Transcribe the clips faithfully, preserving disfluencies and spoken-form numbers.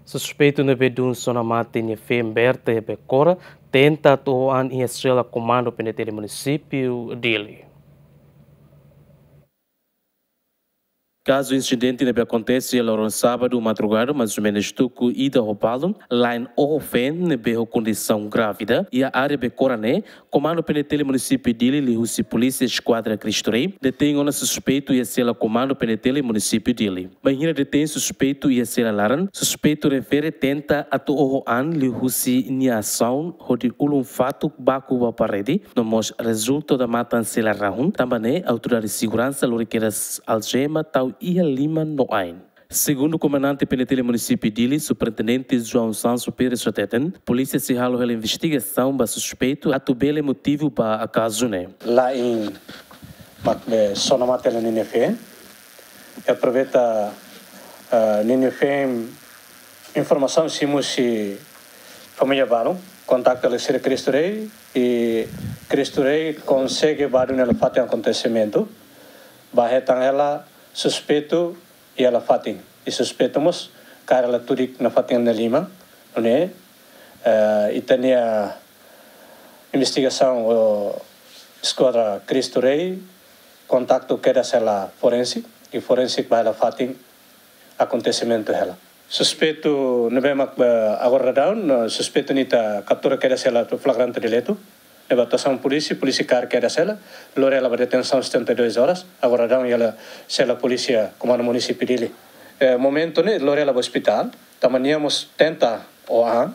Suspeitu ne'ebé dún sona mate nia feen Berta iha Becora tenta atu oho an iha sela komandu P N T L munisípiu Dili. Kazu insidente ne'ebé akontese iha loron sábadu madrugada, mais ou menus tuku ida ho balun, la'en oho feen ne'ebé ho kondisaun grávida iha área Becora ne'e, komandu P N T L munisípiu Dili liuhusi polísia eskuadra Cristo Rei detein ona suspeitu iha sela komandu P N T L munisípiu Dili. Bainhira detein suspeitu iha sela laran, suspeitu refere tenta atu oho an liuhusi nia asaun hodi ulun fatuk baku ba parede, no mós rezulta ona matan sela rahun, tanba ne'e autoridade seguransa lori kedas aljema tau iha liman no ain. Segundu komandante P N T L munisípiu Dili, Superintendente João Sancho Pires hateten, polísia sei halo hela investigasaun ba suspeitu atu bele motivu ba kazu ne'e. La'en mak be sona mate hela ninia feen. I aproveita, ah, ninia feen informasaun simu husi família balun, kontaktu hela sira Cristo Rei, i Cristo Rei konsege ba dún hela fatin akontesimentu, ba hetan hela suspeitu iha hela fatin. I suspeitu mós kaer hela tudik nafatin nia liman, nune'e, eh, ita-nia investigasaun ho eskuadra Cristo Rei kontaktu kedas hela forensik, i forensik ba hela fatin akontesimentu hela. Suspeitu ne'ebé mak, eh, agora daudaun, eh, suspeitu ne'e ita kaptura kedas hela atu flagrante delitu. Ne'ebé atuasaun polísia, polísia kaer kedas hela, lori hela ba detensaun setenta e duas horas, agora daudaun iha sela polísia komandu munisípiu Dili. Eh, momentu ne'e lori hela ba ospitál, tanba nia mós tenta oho an,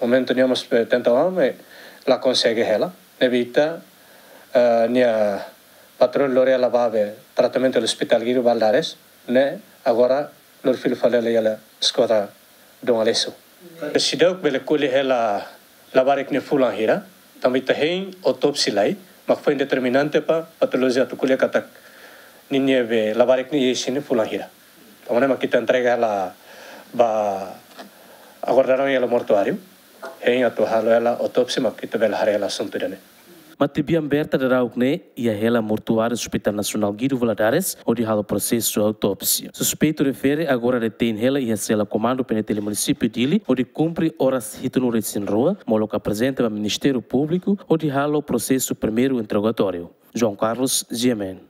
momentu nia mós, eh, tenta oho an, eh, la konsege hela. Ne'ebé ita, eh, nia patrulla lori hela ba be tratamentu iha Ospitál Guido Valadares, ne'e agora lori fila fali hela iha eskuadra Dom Aleixo. Seidauk bele ko'alia hela labarik ne'e fulan hira, tanba ita hein autópsia lai, mak foin determinante ba patolojia atu ko'alia katak ninia be labarik ne'e iha isin ne'e fulan hira. Tanba ne'e mak ita entrega hela ba agora daudaun iha hela mortuáriu, hein atu halo hela autópsia mak ita bele haree hela asuntu ida-ne'e. Matebian Berta daudauk ne'e iha hela mortuáriu Hospital Nasionál Guido Valadares, hodi halo prosesu autópsia. Suspeitu refere agora detein hela iha sela komandu P N T L munisípiu Dili, hodi kumpre oras hitunulu-resin-rua, molok aprezenta ba Ministériu Públiku, hodi halo prosesu primeiru interrogatóriu. João Carlos, G M N.